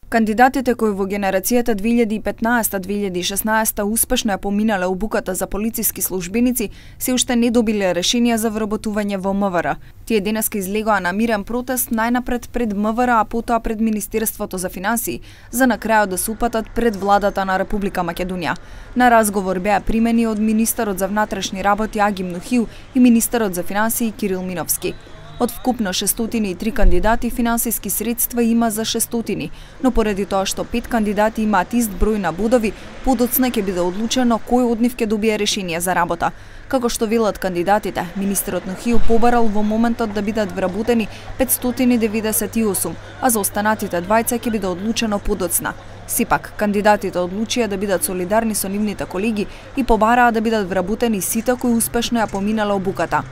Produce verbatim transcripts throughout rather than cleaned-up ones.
Кандидатите кои во генерацијата две илјади и петнаесета - две илјади и шеснаесета успешно ја поминале обуката за полициски службеници, се уште не добиле решенија за вработување во МВР. Тие денеска излегоа на мирен протест најнапред пред МВР, а потоа пред Министерството за финансии, за на крајот да се упатат пред владата на Република Македонија. На разговор беа примени од министерот за внатрешни работи Агим Нухил и министерот за финансии Кирил Миновски. Од вкупно шестстотини и три кандидати финансиски средства има за шестстотини, но поради тоа што пет кандидати имаат ист број на бодови, подоцна ќе биде одлучено кој од нив ќе добие решение за работа. Како што велат кандидатите, министерот Нухил побарал во моментот да бидат вработени петстотини деветдесет и осум, а за останатите двајца ќе биде одлучено подоцна. Сепак, кандидатите одлучија да бидат солидарни со нивните колеги и побараа да бидат вработени сите кои успешно ја поминале обуката.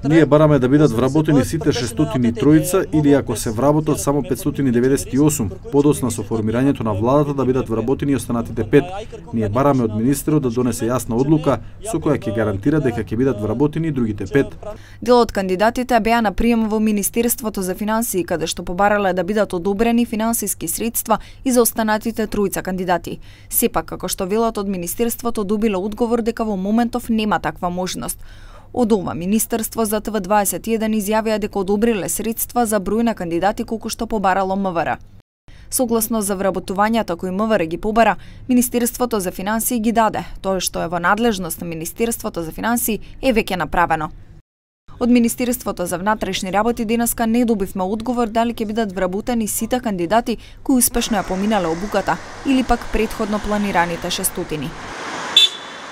Ние бараме да бидат вработени сите шестстотини и тројца или ако се вработат само петстотини деветдесет и осум, подоцна со формирањето на владата да бидат вработени и останатите пет. Ние бараме од министерот да донесе јасна одлука со која ќе гарантира дека ќе бидат вработени и другите пет. Дел од кандидатите беа на прием во Министерството за финансии, каде што побарале да бидат одобрени финансиски средства и за останатите тројца кандидати. Сепак, како што велат од Министерството, добиле одговор дека во моментов нема таква можност. Од ова Министерство за Т В дваесет и еден изјавија дека одобриле средства за број на кандидати колку што побарало МВР. Согласно за вработувањата кои МВР ги побара, Министерството за финансии ги даде. Тоа што е во надлежност на Министерството за финансии е веќе направено. Од Министерството за внатрешни работи денеска не добивме одговор дали ќе бидат вработени сите кандидати кои успешно ја поминале обуката или пак претходно планираните шестстотини.